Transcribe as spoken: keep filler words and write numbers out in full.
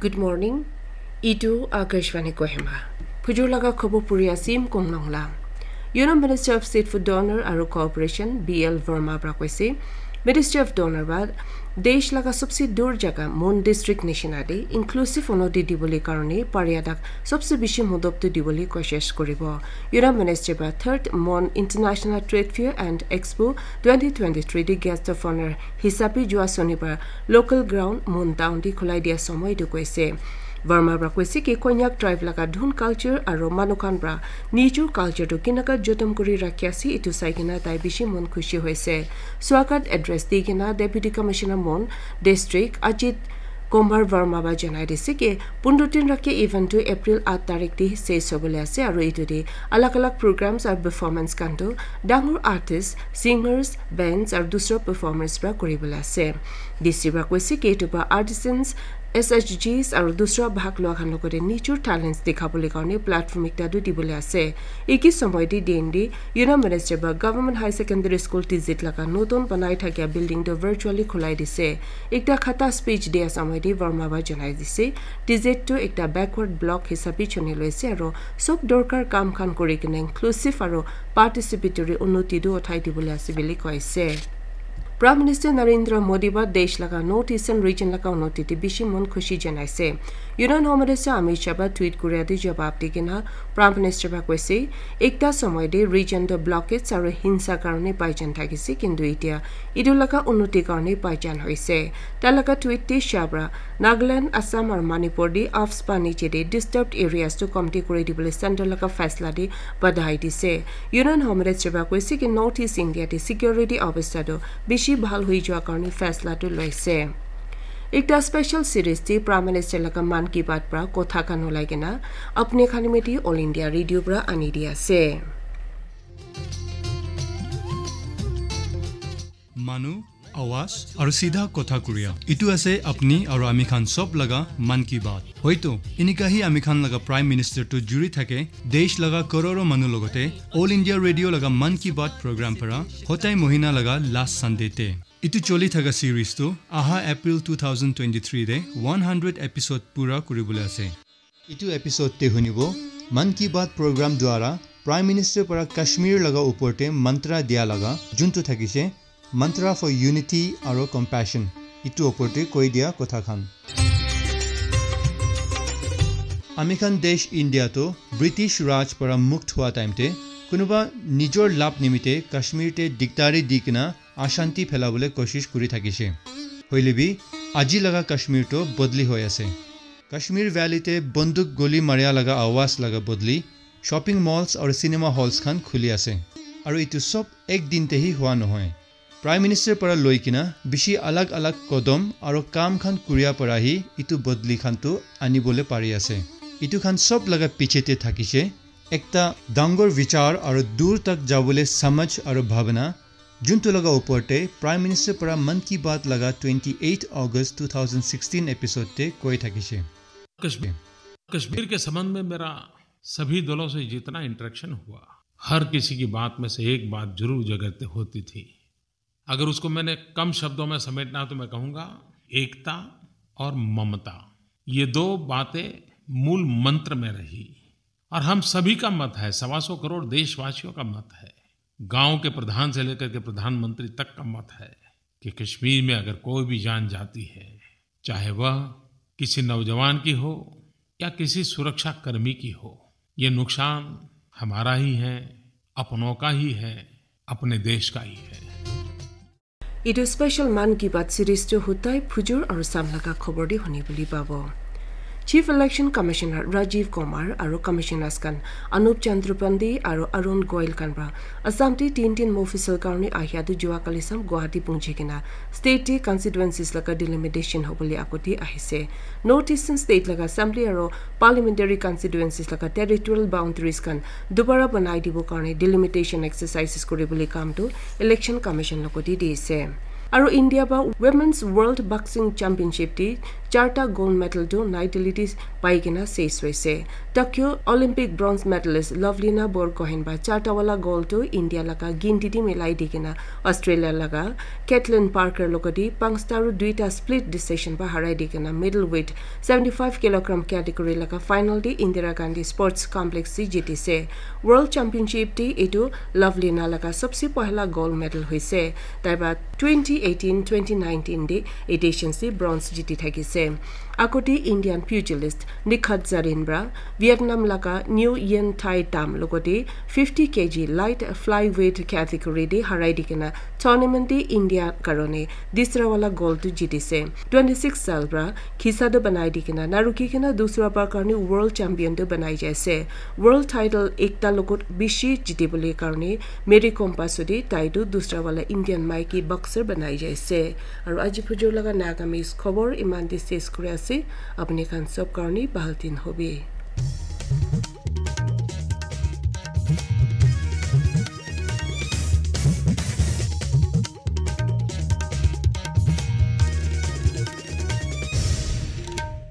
Good morning. Itu Akashvani Kohima. Phujur laga khobor puri asim Kongnong la. Union Minister of State for Donor aru Cooperation, B L Verma pra koise, Ministry of Donor ba desh laga sobse dur jaga Mon district nishina de inclusive unnoti dibole karone pariya dak sobse bishi modop tu dibole koshish koribo. Union Minister ba third Mon International Trade Fair and Expo twenty twenty-three de guest of honor hisabe jua sonibar local ground Mon town de khulai dia somoy tu koise. Verma pra koise ki Konyak tribe laga dhun culture aru manu khan pra nijor culture tu kinaka jotom kuri rakhi ase, itu sai kena tai bishi mon khushi hoise. Swagat address di kena Deputy Commissioner Mon District Ajit Kumar Verma ba janai dise ki pundro tin rakhi event tu April eight tarik te ses hobole ase aru itu de alag alag programs aru performance khan tu dangor artists, singers, bands aru dusra performers pra kuribole ase. D C pra koise ki itu pra artisans, S H Gs aru dusra bhag lua khan logote nijor talents dikhabole karone platform ekta tu dibole ase. Eki somoy te D N D, Union Minister ba Government High Secondary School Tizit laga notun banai thakia building tu virtually khulai dise. Ekta khata speech dia somoy te Verma ba janai dise, Tizit tu ekta backward block hisabe chuni loise aru sob dorkar kam khan kuri kena inclusive aru participatory unnoti tu uthai dibole ase bili koise. Prime Minister Narendra Modi ba desh laga North Eastern region laga unnoti te bishi mon khushi janaise. Union Home Minister Amit Shah ba tweet kuria te jawab di kena Prime Minister ba koise, ekta somoy te region to blockades aru hinsa karone baijan thakise, kintu itia itu laga unnoti karone baijan hoise. Tai laga tweet te Shah pra Nagaland, Assam aru Manipur de AFSPA niche de disturbed areas tu komti kuri dibole center laga faisla de badhai dise. Union Home Minister ba koise ki North East India de security obostha tu bishi bhal hoi jua karone faisla tu loise. Ekta special series de Prime Minister laga Mann Ki Baat pra kotha khan ulai kena apni khan miti All India Radio pra ani di ase. Manu, awaz, aru sidha kotha kuriya. Itu ase apni aru ami khan sob laga Mann Ki Baat. Hoito, inika hi ami khan laga Prime Minister tu juri thake, desh laga kororo manu logote, All India Radio laga Mann Ki Baat program para, hotai mohina laga last Sunday te. Itu choli thaka series tu, aha April two thousand twenty-three de one hundred episode pura kuribole ase. Itu episode te hunibo, Mann Ki Baat program dwara Prime Minister para Kashmir laga upor te mantra dia laga, juntu thakise, Mantra for Unity aro Compassion, itu upor te koi dia kotha khan. Ami khan desh India to British Raj para mukt hua time te, kunuba nijor lab nimite Kashmir te dikdari di kena ashanti phelabole koshish kuri thakise. Hoile bi, aji laga Kashmir to bodli hoi ase. Kashmir Valley te banduk goli maria laga awaz laga bodli, shopping malls aru cinema halls khan khuli ase. Aru itu sob ek din te hi hua nohoi. Prime Minister para loi kena bishi alag alag kodom aru kam khan kuria para hi itu bodli khan tu anibole pari ase. Itu khan sob laga piche te thakise ekta dangor vichar aru dur tak jabole samaj aru bhabana, juntu laga upor te Prime Minister para Mann Ki Baat laga twenty-eight August two thousand sixteen episode te koi thakise. कश्मीर कश्मीर के संबंध में मेरा सभी दलों से जितना इंटरेक्शन हुआ, हर किसी की बात में से एक बात जरूर जगह होती थी। अगर उसको मैंने कम शब्दों में समेटना हो तो मैं कहूँगा, एकता और ममता, ये दो बातें मूल मंत्र में रही। और हम सभी का मत है, सवा सौ करोड़ देशवासियों का मत है, गांव के प्रधान से लेकर के प्रधानमंत्री तक का मत है कि कश्मीर में अगर कोई भी जान जाती है, चाहे वह किसी नौजवान की हो या किसी सुरक्षा कर्मी की हो, ये नुकसान हमारा ही है, अपनों का ही है, अपने देश का ही है। Etu special Mann Ki Baat series tu hutai phujur aru sam laga khobor di huni buli pabo. Chief Election Commissioner Rajiv Kumar aru Commissioners khan Anup Chandra Pandey aru Arun Goel khan pra Assam te tin tin Mofussil karone ahia tu jua kali sam Guwahati pungji kena state te constituencies laga delimitation hobole agoti ahise. North Eastern state laga assembly aru parliamentary constituencies laga territorial boundaries khan dubara banai dibo karone delimitation exercises kuribole kam tu Election Commission logoti di ase. Aru India ba Women's World Boxing Championship te charta gold medal tu Nai Delhi te pai kena ses hoise. Tokyo Olympic bronze medalist Lovelina Borgohain para charta wala gold tu India laga ginti te milai di kena Australia laga Caitlin Parker logote panchta aru duita split decision para harai di kena middleweight seventy five kilogram category laga final te Indira Gandhi Sports Complex te jitise. World Championship te etu Lovelina laga sabse pahla gold medal hoise. Tai para twenty eighteen twenty nineteen te editions te bronze jiti thakise. Agote Indian pugilist Nikhat Zarin para Vietnam laga Nguyen Thai Tam logote fifty K G light flyweight category te harai di kena tournament te India karone dusra wala gold tu jitise. Twenty six saal para khisa tu banai di kena naruki kena dusra bar karone world champion tu banai jaise. World title ekta logot bishi jitibole karone Mary Kom pasode tai tu dusra wala Indian maiki boxer banai jaise. Aru aji phujur laga Nagamese khobor iman te ses kuri ase. Apni khan sob karone bahal din hobi.